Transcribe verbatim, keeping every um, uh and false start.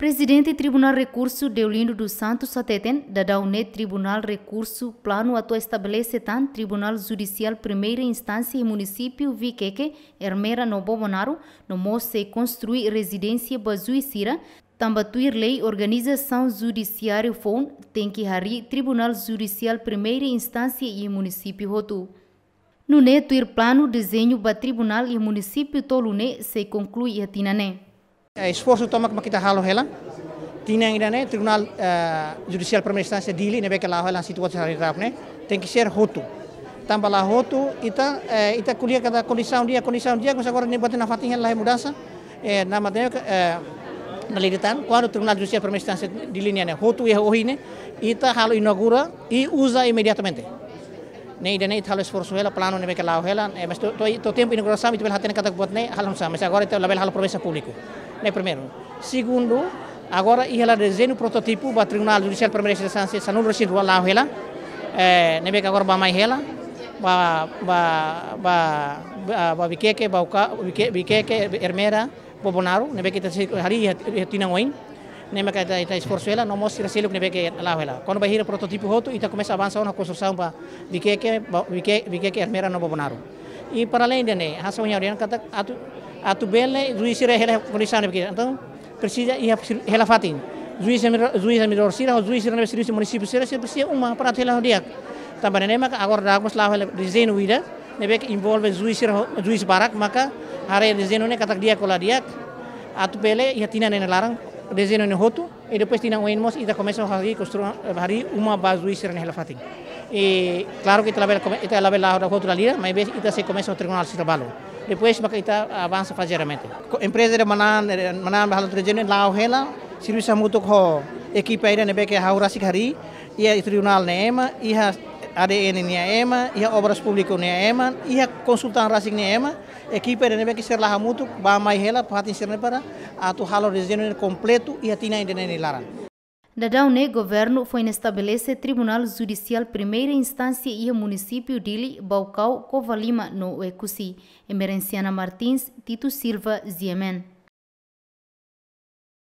Prezidente Tribunál Rekursu, Deolindo dos Santos, hateten, daudaun ne'e Tribunál Rekursu planu atu estabelese tan Tribunál Judisiál Primeira Instánsia iha munisípiu Viqueque, Ermera no Bobonaro, no mós sei konstrui rezidénsia ba juís sira, tanba tuir lei organizasaun judisiáriu foun tenke harii Tribunál Judisiál Primeira Instánsia iha munisípiu hotu. Nune'e tuir planu dezeñu ba tribunál iha munisípiu tolu ne'e sei konklui iha tinan ne'e. Eh, esforsu tomak mak ita halo hela. Tinan ida-ne'e Tribunál, eh, Judisiál Primeira Instánsia Dili ne'ebé ke la'o hela situasaun harii rap ne'e tenke ser hotu. Tanba la hotu ita, eh, ita ko'alia katak kondisaun di'ak, kondisaun di'ak, mas agora ne'e buat nafatin hela la mudansa. Eh, na matéria, eh, na liritan, kuandu Tribunál Judisiál Primeira Instánsia Dili nian ne'e hotu iha ohin ne'e, ita halo inaugura i uza imediatamente. Ne'e ida-ne'e ita halo esforsu hela, planu ne'ebé ke la'o hela, eh, mas to'o, to'o, to'o tempu inaugurasaun ita bele hatene katak buat ne'e halo oinsá, mas agora ita labele halo promesa públiku. Ne'e primeiru. Segundu, agora iha hela dezeñu prototipu ba Tribunál Judisiál Primeira Instánsia sanulu-resin-rua la'o hela. Eh, ne'ebé ke agora bá-mai hela, ba, ba, ba, ba, ba Viqueque, Baucau, Vique-, Viqueque, Ermera, Bobonaro, ne'ebé ke ita sei harii iha, iha tinan oin. Ne'e maka ita, ita esforsu hela, no mós sira seluk ne'ebé ke la'o hela. Kuandu bainhira prototipu hotu, ita komesa avansa ona konstrusaun ba Viqueque, ba Vique-, Viqueque, Ermera no Bobonaro. I para além de ne'e, hanesan ohin ha'u dehan katak atu, atu bele juís sira hela kondisaun ne'ebé ke. Entaun, presiza iha hela fatin. Juís administra-, juís administradór sira, juís sira ne'ebé servisu munisípiu sira, sira presiza uma para atu hela di'ak. Tanba ne'e maka agora daudaun mós la'o hela dezeñu ida, ne'ebé ke envolve juís sira, juís barak, maka haree dezeñu ne'e katak di'ak ka la di'ak, atu bele iha tinan ne'e nia laran, dezeñu ne'e hotu, i depois tinan oin mós ita komesa harii konstru-, harii uma ba juís sira-nia hela fatin. I klaru ke ita labele kome-, ita labele la'o hotu dala ida, maibé ita sei komesa ho tribunál sira balu. Depois maka ita avansa fazeadamente. Ko-, empreza ida manán, manán ba halo dezeñu ne'e la'o hela, servisu hamutuk ho ekipa ida ne'ebé ke ha'u rasik harii, iha tribunál nia ema, iha A D N nia ema, iha Obras Públikas nia ema, iha konsultan rasik nia ema, ekipa ida ne'ebé ke sira la'o hamutuk, bá-mai hela, fatin sira-ne'e para atu halo dezeñu ne'e kompletu iha tinan ida-ne'e nia laran. Daudaun ne'e governu foin estabelese Tribunál Judisiál Primeira Instánsia iha munisípiu Dili, Baucau, Covalima no Oecusse. Emerenciana Martins, Tito Silva, G M N.